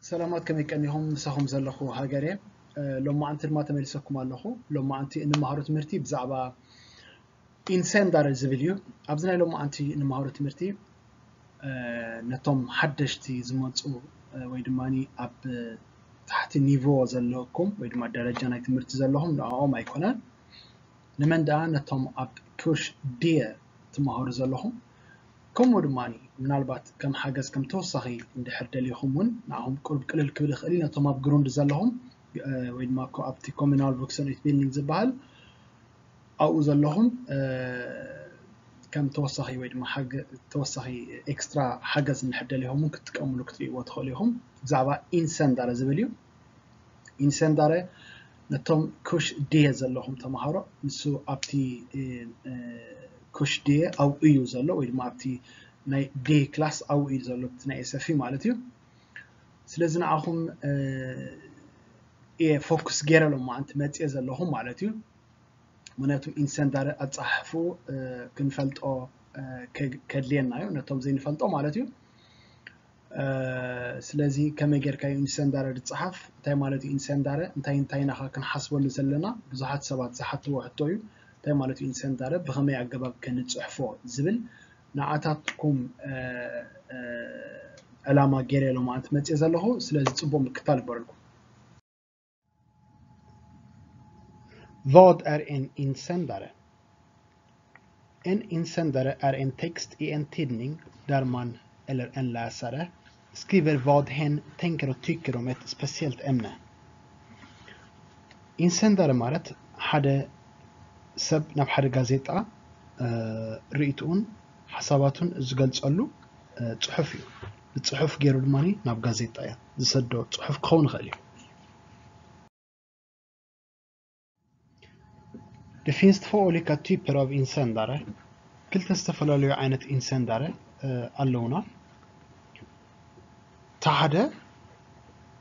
ሰላማት፣ ከመይ ቀኒኹም? ምሳኹም ዘለኹ ሃገር እየ። እ፣ ሎማዓንቲ ድማ ተመሊሰኩም ኣለኹ። ሎማዓንቲ እንመሃሮ ትምህርቲ ብዛዕባ ኢንሰንዳረ ዝብል እዩ። ኣብዚ ናይ ሎማዓንቲ እንመሃሮ ትምህርቲ፣ እ፣ ነቶም ሓደሽቲ ዝመፁ፣ እ፣ ወይ ድማ ኣብ ታሕቲ ኒቮ ዘለኩም ወይ ድማ ደረጃ ናይ ትምህርቲ ዘለኹም ንዕኦም ኣይኮነን። ንመን ደኣ? ነቶም ኣብ ኩሽ ድየ ትመሃሩ ዘለኹም። ከምኡ ድማ ምናልባት ከም ሓገዝ፣ ከም ተወሳኺ እንድሕር ደሊኹም እውን ንዓኹም ቁሩብ ቅልል ክብል ይኽእል እዩ። ነቶም ኣብ ግሩንድ ዘለኹም፣ እ፣ ወይ ድማ ኮ-፣ ኣብቲ ኮሚናል ቭክሰን ኡትቢልዲንግ ዝበሃል ኣብኡ ዘለኹም፣ እ፣ ከም ተወሳኺ ወይ ድማ ሓገ-፣ ተወሳኺ ኤክስትራ ሓገዝ እንድሕር ደሊኹም እውን ክትጥቀምሉ ክትርእይዎ ትኽእሉ ኢኹም። ብዛዕባ ኢንሰንዳረ ዝብል እዩ። ኢንሰንዳረ ነቶም ኩሽ ድየ ዘለኹም ተምሃሮ፣ ንሱ ኣብቲ፣ እ፣ እ፣ ኩሽ ድየ ኣብኡ እዩ ዘሎ፣ ወይ ድማ ኣብቲ ናይ ድየ ክላስ ኣብኡ እዩ ዘሎ፣ እቲ ናይ ኤስ ኤፍ ኢ ማለት እዩ። ስለዚ ንዓኹም፣ እ፣ እየ ፎኩስ ገይረ ሎማዓንቲ መፅየ ዘለኹ ማለት እዩ። ምክንያቱ ኢንሰንዳረ ኣፀሓሕፍኡ፣ እ፣ ክንፈልጦ፣ እ፣ ከ-፣ ከድልየና እዩ፣ ነቶም ዘይንፈልጦ ማለት እዩ። እ፣ ስለዚ ከመይ ጌርካ እዩ ኢንሰንዳረ ዝፀሓፍ? እንታይ ማለት እዩ ኢንሰንዳረ? እንታይ እንታይ ኢና ኸ ክንሓስበሉ ዘለና? ብዙሓት ሰባት ዝሓትዎ ሕቶ እዩ። እንታይ ማለት እዩ ኢንሰንዳረ? ብኸመይ ኣገባብ ከ ንፅሕፎ ዝብል ንዓታትኩም፣ እ፣ እ፣ ዕላማ ገይረ ሎማዓንቲ መፅየ ዘለኹ። ስለዚ ፅቡቅ ምክታል ይግበረልኩም። Vad är en insändare? En insändare är en text i en tidning där man, eller en läsare, skriver vad hen tänker och tycker om ett speciellt ämne. ኢንሰንዳረ ማለት ሓደ ሰብ ናብ ሓደ ጋዜጣ፣ እ፣ ርእይትኡን ሓሳባቱን ዝገልጸሉ፣ እ፣ ጽሑፍ እዩ። ብጽሑፍ ገይሩ ድማ ናብ ጋዜጣ እያ ዝሰዶ ጽሑፍ ክኸውን ይኽእል እዩ። Det finns två olika typer av insändare. ክልተ ዝተፈላለዩ ዓይነት ኢንሰንዳረ፣ እ፣ ኣለውና። እቲ ሓደ፣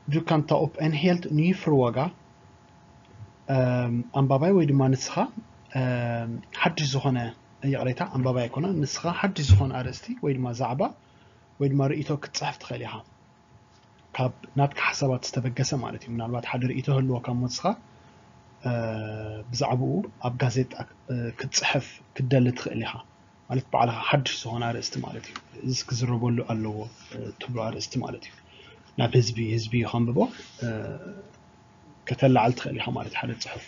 du kan ta upp en helt ny fråga. እም፣ ኣንባባይ ወይ ድማ ንስኻ፣ እም፣ ሓድሽ ዝኾነ፣ ይቕሬታ፣ ኣንባባይ ኣይኮነ፣ ንስኻ ሓድሽ ዝኾነ ኣርእስቲ ወይ ድማ ዛዕባ ወይ ድማ ርእይቶ ክትጽሕፍ ትኽእል ኢኻ። ካብ ናትካ ሓሳባት ዝተበገሰ ማለት እዩ። ምናልባት ሓደ ርእይቶ ህልወካ እሞ ንስኻ፣ እ፣ ብዛዕባኡ ኣብ ጋዜጣ፣ እ፣ ክትጽሕፍ ክትደሊ ትኽእል ኢኻ። ማለት ባዕልኻ ሓድሽ ዝኾነ ኣርእስቲ ማለት እዩ። እዚ ክዝረበሉ ኣለዎ፣ እ፣ ትብሎ ኣርእስቲ ማለት እዩ። ናብ ህዝቢ፣ ህዝቢ ከንብቦ፣ እ፣ ከተላዕል ትኽእል ኢኻ ማለት እዩ ሓደ ጽሑፍ።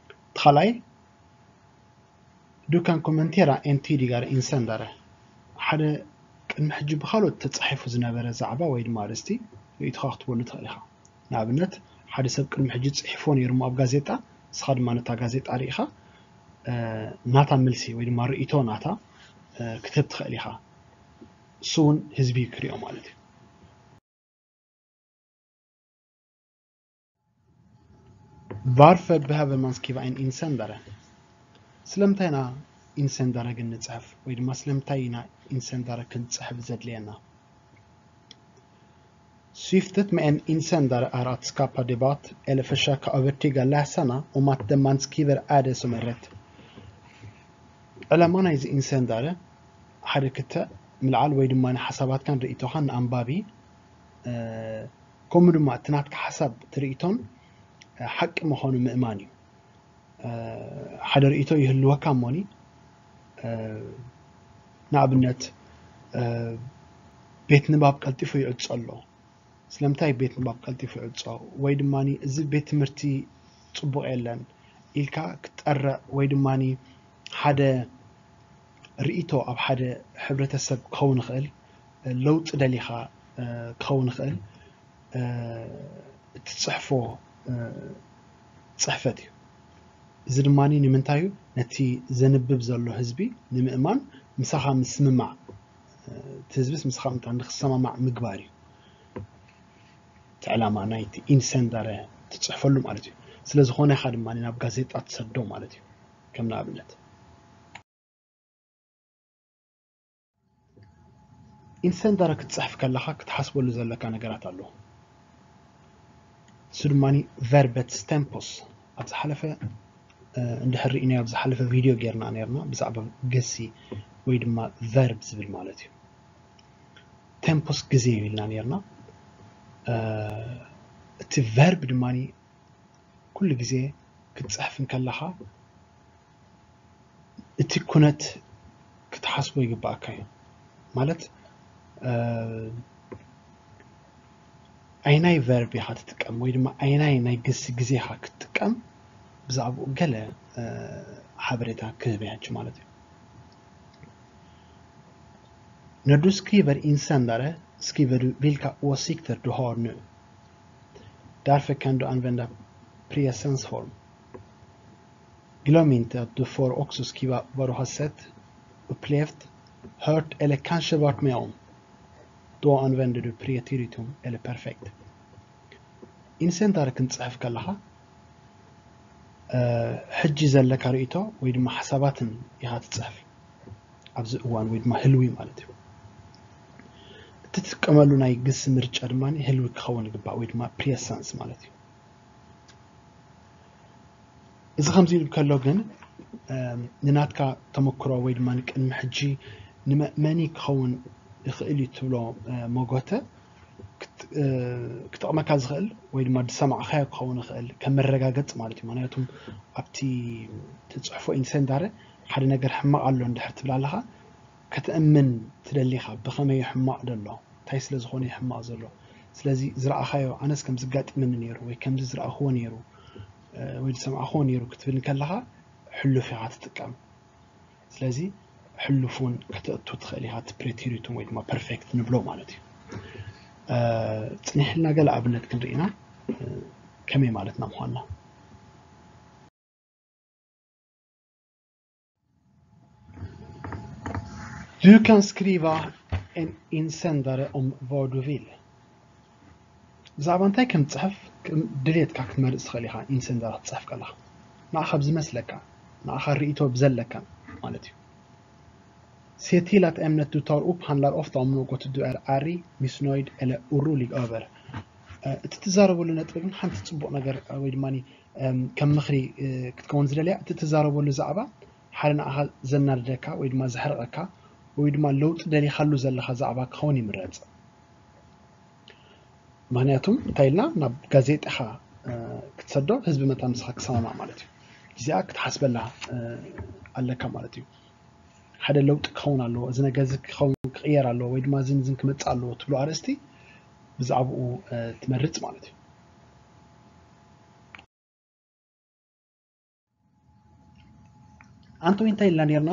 እቲ ካልኣይ፣ du kan kommentera en tidigare insändare. ሓደ ቅድሚ ሕጂ ብኻልኦት ተጻሒፉ ዝነበረ ዛዕባ ወይ ድማ ኣርእስቲ ርእይቶኻ ክትበሉ ትኽእል ኢኻ። ንኣብነት፣ ሓደ ሰብ ቅድሚ ሕጂ ጽሒፎ ነይሩ እሞ ኣብ ጋዜጣ፣ ንስኻ ድማ ነታ ጋዜጣ ርኢኻ፣ እ፣ ናታ መልሲ ወይ ድማ ርእይቶ ናታ፣ እ፣ ክትህብ ትኽእል ኢኻ። እሱ እውን ህዝቢ ክሪኦ ማለት እዩ። Varför behöver man skriva en insändare? ስለምንታይ ኢና ኢንሰንዳረ ግን ንጽሕፍ? ወይ ድማ ስለምንታይ ኢና ኢንሰንዳረ ክንጽሕፍ ዘድልየና? Syftet med en insändare är att skapa debatt eller försöka övertyga läsarna om att det man skriver är det som är rätt. ዕላማ ናይዚ ኢንሰንዳረ ሓደ ክተ ምልዓል ወይ ድማ ንሓሳባትካን ርእይቶኻን ንኣንባቢ፣ እ፣ ከምኡ ድማ እቲ ናትካ ሓሳብ ትርኢቶን፣ እ፣ ሓቂ ምዃኑ ምእማን እዩ። እ፣ ሓደ ርእይቶ ይህልወካ እሞኒ፣ እ፣ ንኣብነት፣ እ፣ ቤት ንባብ ቀልጢፉ ይዕጾ ኣሎ። ስለምንታይ ቤት ንባብ ቀልጢፉ ይዕጾ? ወይ ድማ እዚ ቤት ትምህርቲ ጽቡቕ የለን ኢልካ ክትጠርዕ ወይ ድማ ሓደ ርእይቶ ኣብ ሓደ ሕብረተሰብ ክኸውን ይኽእል፣ ለውጢ ደሊኻ፣ እ፣ ክኸውን ይኽእል፣ እ፣ እትጽሕፎ፣ እ፣ ጽሕፈት እዩ። እዚ ድማ ንምንታይ እዩ? ነቲ ዘንብብ ዘሎ ህዝቢ ንምእማን ምሳኻ ምስምማዕ፣ እ፣ እቲ ህዝብስ ምሳኻ ምእንታን ንክሰማማዕ ምግባር እዩ። እቲ ዕላማ ናይቲ ኢንሰንዳረ ትጽሕፈሉ ማለት እዩ። ስለ ዝኾነ ኢኻ ድማ ናብ ጋዜጣ ትሰዶ ማለት እዩ። ከም ንኣብነት፣ ኢንሰንዳረ ክትጽሕፍ ከለኻ ክትሓስበሉ ዘለካ ነገራት ኣሎ። እሱ ድማ verbets tempus። ኣብ ዝሓለፈ፣ እ፣ እንድሕር ርኢናዮ፣ ኣብ ዝሓለፈ ቪድዮ ጌርና ኔርና ብዛዕባ ግሲ ወይ ድማ ቨርብ ዝብል ማለት እዩ። ቴምፖስ ግዜ እዩ ኢልና ኔርና። እቲ ቨርብ ድማ ኩሉ ግዜ ክትፅሕፍ እንከለኻ እቲ ኩነት ክትሓስቦ ይግባኣካ እዩ። ማለት ኣይናይ ቨርብ ኢኻ ትጥቀም ወይ ድማ ኣይናይ ናይ ግሲ ግዜ ኢኻ ክትጥቀም ብዛዕባኡ ገለ ሓበሬታ ክህብ እየ ማለት እዩ። När du skriver insändare skriver du vilka åsikter du har nu. Därför kan du använda presensform. Glöm inte att du får också skriva vad du har sett, upplevt, hört eller kanske varit med om. Då använder du preteritum eller perfekt. Insändare ክንጽሕፍ ከለኻ ሕጂ ዘለካ ርእይቶ ወይ ድማ ሓሳባትን ኢኻ ትጽሕፍ ኣብዚ እዋን ወይ ድማ ህልዊ ማለት እዩ። እትጥቀመሉ ናይ ግሲ ምርጫ ድማ ህልዊ ክኸውን ይግባእ ወይ ድማ ፕሬሰንስ ማለት እዩ። እዚ ከምዚ ኢሉ ከሎ ግን ንናትካ ተመክሮ ወይ ድማ ንቅድሚ ሕጂ ንመእመኒ ክኸውን ይኽእል እዩ ትብሎ መጎተ ክጠቕመካ ዝኽእል ወይ ድማ ዝሰማዕካዮ ክኸውን ይኽእል ከም መረጋገፂ ማለት እዩ። ምክንያቱም ኣብቲ ትፅሕፎ ኢንሰንዳረ ሓደ ነገር ሕማቕ ኣሎ እንድሕር ትብል ኣለኻ ከተእምን ትደሊኻ ብኸመይ ሕማቕ ደሎ እንታይ ስለ ዝኾነ ሕማቕ ዘሎ ስለዚ ዝረኣኻዮ ኣነስ ከም ዝጋጥመኒ ነይሩ ወይ ከምዚ ዝረኣኽዎ ነይሩ ወይ ዝሰማዕኽዎ ነይሩ ክትብል ከለኻ ሕሉፍ ኢኻ ትጥቀም። ስለዚ ሕሉፍ እውን ከተእቱ ትኽእል ኢኻ እቲ ፕሬቴሪቱም ወይ ድማ ፐርፌክት ንብሎ ማለት እዩ። ፅኒሕልና ገለ ኣብነት ክንርኢ ኢና ከመይ ማለትና ምዃንና። Du kan skriva en insändare om vad du vill. ብዛዕባ እንታይ ከም ትፅሕፍ ድሌትካ ክትመርፅ ትኽእል ኢኻ። ኢንሰንደራ ክትፅሕፍ ከለኻ ንዓኻ ብዝመስለካ ንዓኻ ርእይቶ ብዘለካ ማለት እዩ። Se till att ämnet du tar upp handlar ofta om något du är arg, missnöjd eller orolig över. እቲ ትዛረበሉ ነጥቢ ግን ሓንቲ ፅቡቕ ነገር ወይ ድማ ከም ምኽሪ ክትከውን ዝደልያ እቲ ትዛረበሉ ዛዕባ ሓደ ንዓኻ ዘናድደካ ወይ ድማ ዘሕርቐካ ወይ ድማ ለውጢ ደሊኻሉ ዘለኻ ዛዕባ ክኸውን ይምረፅ። ምክንያቱም እንታይ ኢልና ናብ ጋዜጣኻ ክትሰዶ ህዝቢ መታ ምስኻ ክሰማማዕ ማለት እዩ። እዚኣ ክትሓስበላ ኣለካ ማለት እዩ። ሓደ ለውጢ ክኸውን ኣለዎ፣ እዚ ነገር እዚ ክኸውን ክቕየር ኣለዎ ወይ ድማ እዚን እዚን ክመፅእ ኣለዎ ትብሎ ኣርእስቲ ብዛዕባኡ ትመርፅ ማለት እዩ። ኣንቶኒ እንታይ ኢልና ነርና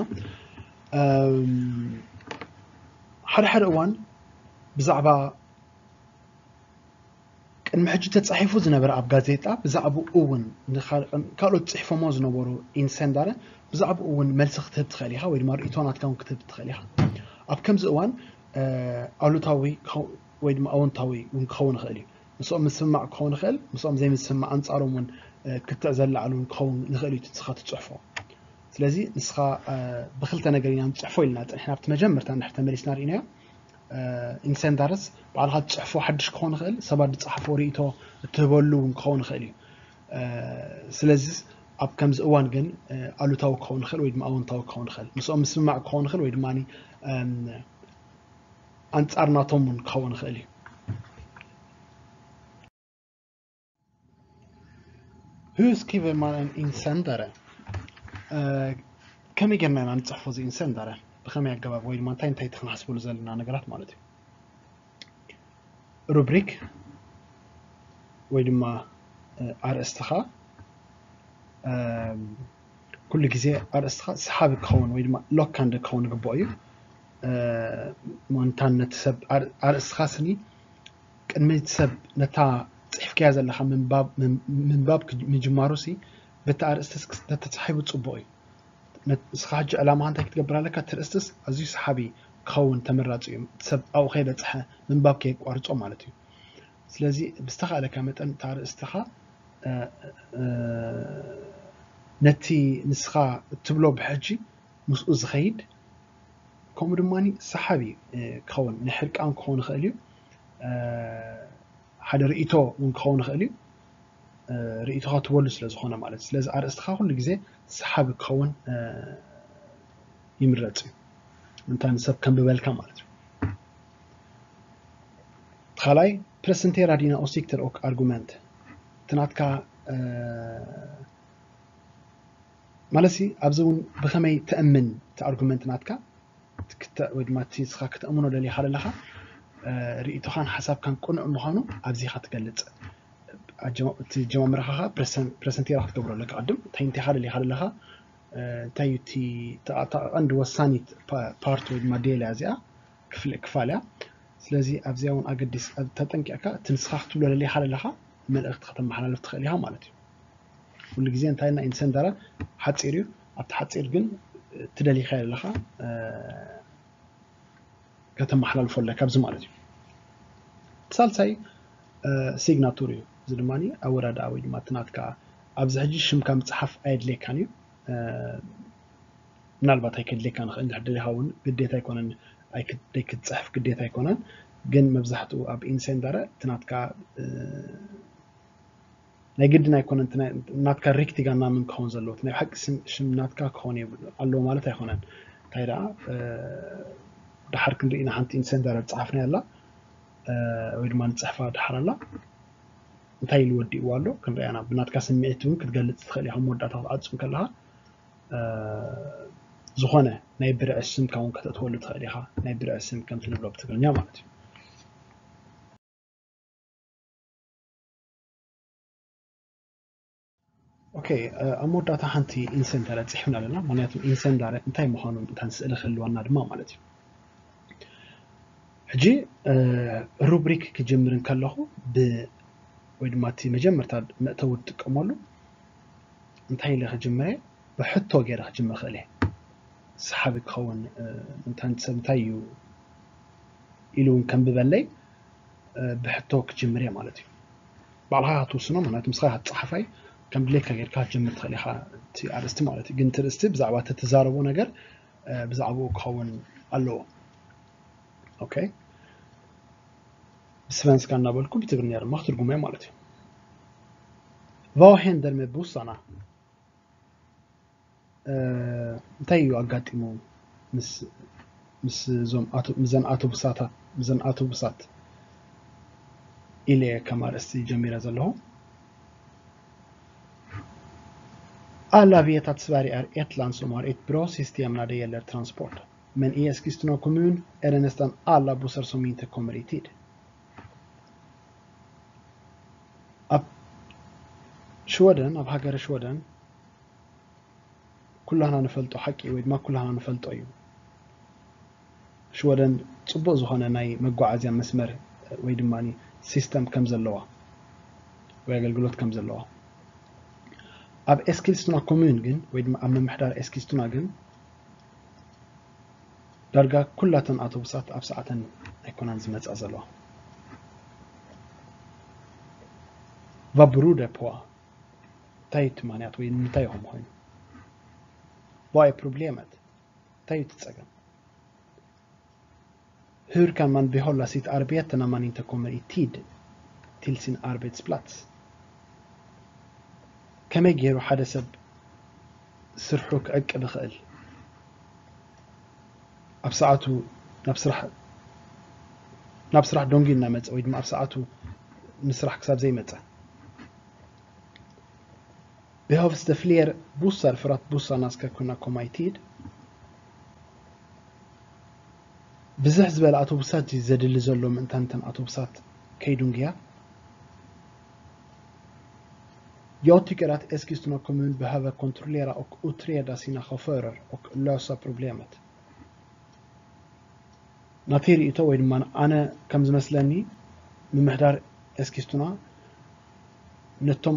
ሓደ ሓደ እዋን ብዛዕባ ቅድሚ ሕጂ ተፃሒፉ ዝነበረ ኣብ ጋዜጣ ብዛዕባኡ እውን ካልኦት ፅሒፎሞ ዝነበሩ ኢንሰንዳረ ብዛዕባኡ እውን መልሲ ክትህብ ትኽእል ኢኻ ወይ ድማ ርእይቶ ናትካ እውን ክትህብ ትኽእል ኢኻ። ኣብ ከምዚ እዋን ኣሉታዊ ወይ ድማ ኣወንታዊ እውን ክኸውን ይኽእል እዩ። ምስኦም ምስምማዕ ክኸውን ይኽእል፣ ምስኦም ዘይምስምማዕ ኣንፃሮም እውን ክትዕ ዘለዓሉ እውን ክኸውን ንኽእል እዩ ንስኻ ትፅሕፎ። ስለዚ ንስኻ ብክልተ ነገር ኢና ንፅሕፎ ኢልና ፅንሕና ኣብቲ መጀመርታ እንድሕር ተመሊስና ርኢናዮ። ኢንሰንዳርስ ባዕልኻ ትፅሕፎ ሓድሽ ክኸውን ይኽእል፣ ሰባት ዝፀሓፎ ርእይቶ እትህበሉ እውን ክኸውን ይኽእል እዩ። ስለዚ ኣብ ከምዚ እዋን ግን ኣሉታዊ ክኸውን ይኽእል ወይ ድማ ኣወንታዊ ክኸውን ይኽእል፣ ምስኦም ምስምማዕ ክኸውን ይኽእል ወይ ድማ ኣንፃር ናቶም እውን ክኸውን ይኽእል እዩ። Hur skriver man en insändare? ከመይ ጌርና ኢና ንፅሕፎ እዚ ኢንሰንዳረ? ብኸመይ ኣገባብ ወይ ድማ እንታይ እንታይ እቲ ክንሓስበሉ ዘለና ነገራት ማለት እዩ። ሩብሪክ ወይ ድማ ኣርእስትኻ ኩሉ ግዜ ኣርእስትኻ ሰሓቢ ክኸውን ወይ ድማ ሎካንደ ክኸውን ይግብኦ እዩ። ምንታን ነቲ ሰብ ኣርእስትኻ ስኒ ቅድሚ እቲ ሰብ ነታ ፅሒፍካያ ዘለኻ ምንባብ ምጅማሩ ሲ በቲ ኣርእስቲ ተተፃሒፉ ፅቡቕ እዩ። ንስኻ ሕጂ ዕላማኻ እንታይ ክትገብር ኣለካ? እቲ ርእስትስ ኣዝዩ ሰሓቢ ክኸውን ተመራፂ እዩ። እቲ ሰብ ኣብኡ ከይበፅሐ ምንባብ ከየቋርፆ ማለት እዩ። ስለዚ ብዝተኻእለካ መጠን እቲ ኣርእስትኻ ነቲ ንስኻ እትብሎ ብሕጂ ምስኡ ዝኸይድ ከምኡ ድማ ሰሓቢ ክኸውን ናይ ሕርቃን ክኸውን ይኽእል እዩ። ሓደ ርእይቶ እውን ክኸውን ይኽእል እዩ። ርእይቶኻ ትበሉ ስለ ዝኾነ ማለት ስለዚ ኣርእስትኻ ኩሉ ግዜ ሰሓቢ ክኸውን ይምረፅ እዩ። እንታይ ንሰብ ከንብበልካ ማለት እዩ። ካልኣይ፣ presentera dina åsikter och argument። እቲ ናትካ ማለት ሲ ኣብዚ እውን ብኸመይ ተእምን እቲ ኣርጉመንት ናትካ ወይ ድማ እቲ ንስኻ ክተእምኖ ደሊኻ ዘለኻ ርእይቶኻን ሓሳብካን ቅኑዕ ምዃኑ ኣብዚኻ ትገልፅ። እቲ ጀማምራኻ ፕረሰንቴራ ክትገብሮ ኣለካ። ቅድም እንታይ እንቲኻ ደሊኻ ዘለኻ እንታይ እዩ እቲ ቀንዲ ወሳኒት ፓርት ወይ ድማ ዴል እያ እዚኣ ክፍል ክፋል እያ። ስለዚ ኣብዚኣ እውን ኣገዲስ ተጠንቂቕካ እቲ ንስኻ ክትብሎ ደሊኻ ዘለኻ መልእኽቲ ከተመሓላልፍ ትኽእል ኢኻ ማለት እዩ። ኩሉ ግዜ እንታይ ኢልና ኢንሰንደረ ሓፂር እዩ። ኣብቲ ሓፂር ግን ትደሊኻ ዘለኻ ከተመሓላልፎ ኣለካ ኣብዚ ማለት እዩ። እቲ ሳልሳይ ሲግናቱር እዩ። እዚ ድማ ኣወዳድኣ ወይ ድማ እቲ ናትካ ኣብዚ ሕጂ ሽምካ ምፅሓፍ ኣየድልየካን እዩ። ምናልባት ኣይከድልየካ ንኽእል እንድሕር ደሊኻ እውን ግዴታ ኣይኮነን። ኣይክትፅሕፍ ግዴታ ኣይኮነን። ግን መብዛሕትኡ ኣብ ኢንሴንዳረ እቲ ናትካ ናይ ግድን ኣይኮነን ናትካ ሪክቲጋ ናምን ክኸውን ዘለዎ ናይ ሓቂ ሽም ናትካ ክኸውን ኣለዎ ማለት ኣይኮነን። እንታይ ደኣ ድሓር ክንርኢ ኢና ሓንቲ ኢንሴንዳረ ዝፀሓፍናያ ኣላ ወይ ድማ ንፅሕፋ ድሓር ኣላ እንታይ ኢሉ ወዲእዋ ኣሎ ክንሪኣና ብናትካ ስምዒት እውን ክትገልፅ ትኽእል ኢኻ መወዳእታ ክትዓፁ ከለኻ ዝኾነ ናይ ብርዒ ስምካ እውን ከተእትወሉ ትኽእል ኢኻ። ናይ ብርዒ ስም ከምቲ ንብሎ ብትግርኛ ማለት እዩ። ኦኬ ኣብ መወዳእታ ሓንቲ ኢንሰንዳረ ፅሒፍና ኣለና። ምክንያቱ ኢንሰንዳረ እንታይ ምዃኑ እንታን ስእሊ ክህልወና ድማ ማለት እዩ። ሕጂ ሩብሪክ ክጅምር እንከለኹ ብ ወይ ድማ እቲ መጀመርታ መእተዊ ትጥቀመሉ እንታይ ኢለ ክጅምር እየ? ብሕቶ ገይረ ክጅምር ክእል እየ። ሰሓቢ ክኸውን እንታን ሰብ እንታይ እዩ ኢሉ እውን ከንብበለይ ብሕቶ ክጅምር እየ ማለት እዩ። ባዕልኻ ክትውስኖ ምክንያቱ ምስኻ ጸሓፋይ ከም ድሌትካ ጌርካ ክትጀምር ትኽእል ኢኻ እቲ ኣርእስቲ ማለት እዩ። ግን እቲ ርእስቲ ብዛዕባ እቲ ትዛረቦ ነገር ብዛዕባኡ ክኸውን ኣለዎ። ኦኬ ብስቨንስካ እናበልኩ ብትግርኛ ድማ ክትርጉሞ ማለት እዩ። Vad händer med bussarna? እንታይ እዩ ኣጋጢሙ ምስ እዞም ምስዘን ኣቶቡሳታት ምስዘን ኣቶቡሳት ኢለ ከም ኣርእስቲ ጀሚረ ዘለኹ። Alla vet att Sverige är ett land som har ett bra system när det gäller transport. Men i Eskilstuna kommun är det nästan alla bussar som inte kommer i tid. ኣብ ሽወደን ኣብ ሃገረ ሽወደን ኩላህና ንፈልጦ ሓቂ ወይ ድማ ኩላህና ንፈልጦ እዩ። ሽወደን ፅቡቅ ዝኾነ ናይ መጓዓዝያ መስመር ወይ ድማ ሲስተም ከም ዘለዋ ወይ ኣገልግሎት ከም ዘለዋ ኣብ ኤስኪልስቱና ኮሙን ግን ወይ ድማ ኣብ ምምሕዳር ኤስኪልስቱና ግን ዳርጋ ኩላተን ኣውቶቡሳት ኣብ ሰዓተን ኣይኮናን ዝመፃ ዘለዋ። Vad beror det på? እንታይ እቲ ምክንያት ወይ ንምንታይ ይኾም ኮይኑ? Vad är problemet? እንታይ እዩ እቲ ፀገም? Hur kan man behålla sitt arbete när man inte kommer i tid till sin arbetsplats? ከመይ ገይሩ ሓደ ሰብ ስርሑ ክዕቅብ ይኽእል? ኣብ ሰዓቱ ናብ ስራሕ ናብ ስራሕ ደንጉዩ እናመፀ ወይ ድማ ኣብ ሰዓቱ ንስራሕ ክሳብ ዘይመፀ Behövs det fler bussar för att bussarna ska kunna komma i tid? ብዝሕ ዝበለ ኣውቶቡሳት እዩ ዘድሊ ዘሎ ምእንታን እተን ኣውቶቡሳት ከይድንጉያ። Jag tycker att Eskilstuna kommun behöver kontrollera och utreda sina chaufförer och lösa problemet. ናተይ ርእይቶ ወይ ድማ ኣነ ከም ዝመስለኒ ምምሕዳር ኤስኪስቱና ነቶም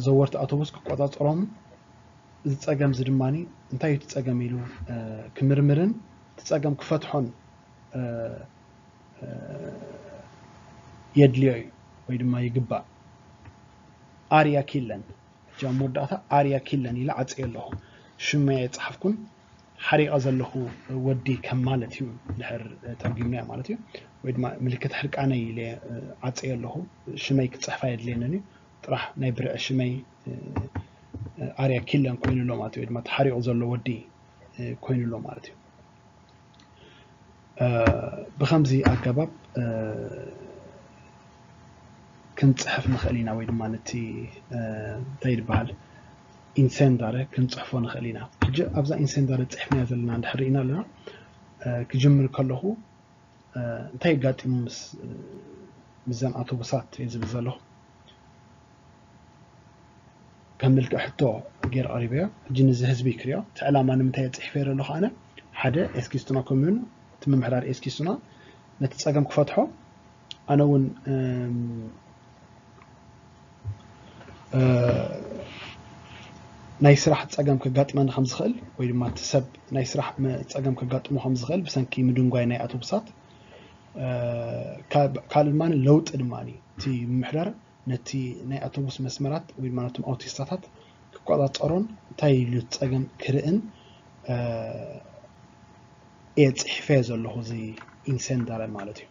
ዘወርቲ ኣውቶቡስ ክቆፃፀሮም እዚ ፀገም እዚ ድማ እንታይ እዩ እቲ ፀገም ኢሉ ክምርምርን እቲ ፀገም ክፈትሖን የድልዮ እዩ ወይ ድማ ይግባእ። ኣርያ ኪለን ሕጂ ኣብ መወዳእታ ኣርያ ኪለን ኢለ ዓፅየ ኣለኹ። ሽመይ ኣይፀሓፍኩን። ሓሪቐ ዘለኹ ወዲ ከም ማለት እዩ ድሕር ተርጒምናዮ ማለት እዩ። ወይ ድማ ምልክት ሕርቃነይ ኢለ ዓፀየ ኣለኹ። ሽመይ ክፅሕፍ ኣየድልየንን እዩ። ጥራሕ ናይ ብርዒ ሽመይ ኣርያ ኪለን ኮይኑ ኣሎ ማለት እዩ። ወይ ድማ ተሓሪቑ ዘሎ ወዲ ኮይኑ ኣሎ ማለት እዩ። ብኸምዚ ኣገባብ ክንፅሕፍ ንኽእል ኢና፣ ወይ ድማ ነቲ እንታይ ይበሃል፣ ኢንሰንዳረ ክንፅሕፎ ንኽእል ኢና። ሕጂ ኣብዛ ኢንሰንዳረ ፅሕፍናያ ዘለና እንድሕር ርኢና ኣለና፣ ክጅምር ከለኹ እንታይ ኣጋጢሙ ምስ ዘን ኣውቶቡሳት እየ ዝብል ዘለኹ። ከም ምልክዕ ሕቶ ገይረ ቀሪበዮ። ሕጂ ንዚ ህዝቢ ክሪኦ፣ እቲ ዕላማ ንምንታይ እየ ፅሒፈ ዘለኹ ኣነ? ሓደ ኤስኪስቱና ኮሚዩን፣ እቲ ምምሕዳር ኤስኪስቱና ነቲ ፀገም ክፈትሖ፣ ኣነ እውን ናይ ስራሕ ፀገም ከጋጥመኒ ከም ዝኽእል ወይ ድማ እቲ ሰብ ናይ ስራሕ ፀገም ከጋጥሞ ከም ዝኽእል ብሰንኪ ምድንጓይ ናይ ኣውቶቡሳት፣ ካልእ ድማ ለውጢ ድማ እቲ ምምሕዳር ነቲ ናይ ኣውቶቡስ መስመራት ወይ ድማ ነቶም ኣውቲስታታት ክቆፃፀሮን እንታይ ኢሉ እቲ ፀገም ክርእን እየ ፅሒፈ ዘለኹ እዚ ኢንሰንዳረ ማለት እዩ።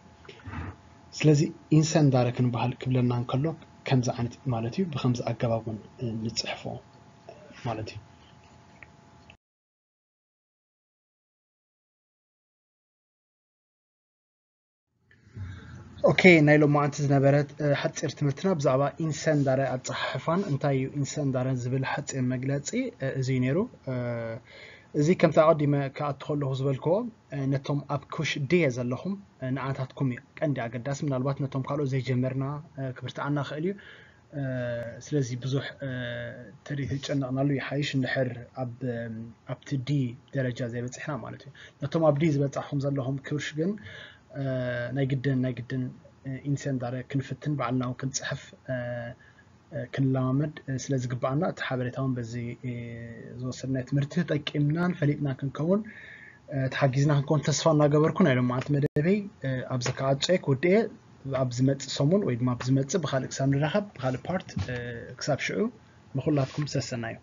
ስለዚ ኢንሰንዳረ ክንበሃል ክብለና እንከሎ ከምዚ ዓይነት ማለት እዩ። ብከምዚ ኣገባብ እውን ንፅሕፎ ማለት እዩ። ኦኬ፣ ናይ ሎማዓንቲ ዝነበረት ሓፂር ትምህርትና ብዛዕባ ኢንሰንዳረ ኣፀሓሕፋን እንታይ እዩ ኢንሰንዳረ ዝብል ሓፂር መግለፂ እዚ ነይሩ። እዚ ከምቲ ኣቐዲመ ክኣቱ ከለኹ ዝበልክዎ ነቶም ኣብ ኩሽ ድየ ዘለኹም ንኣታትኩም እዩ ቀንዲ ኣገዳሲ። ምናልባት ነቶም ካልኦት ዘይጀመርና ክብርትዓና ክእል እዩ። ስለዚ ብዙሕ ተጨነቕናሉ ይሓይሽ እንድሕር ኣብቲ ዲ ደረጃ ዘይበፅሕና ማለት እዩ። ነቶም ኣብ ዲ ዝበፃሕኩም ዘለኹም ክብርሽ ግን ናይ ግድን ናይ ግድን ኢንሰንዳረ ክንፍትን ባዕልና እውን ክንፅሕፍ ክንለማመድ ስለ ዝግባኣና እቲ ሓበሬታ እውን በዚ ዝወሰድናዮ ትምህርቲ ተጠቂምናን ፈሊጥና ክንከውን ተሓጊዝና ክንከውን ተስፋ እናገበርኩ ናይ ሎማዓንቲ መደበይ ኣብዚ ክዓጾ እየ ክውድእ እየ። ኣብ ዝመፅእ ሰሙን ወይ ድማ ኣብ ዝመፅእ ብካልእ ክሳብ ንራኸብ ብካልእ ፓርት ክሳብ ሽዑ ንኩላትኩም ሰሰናዩ።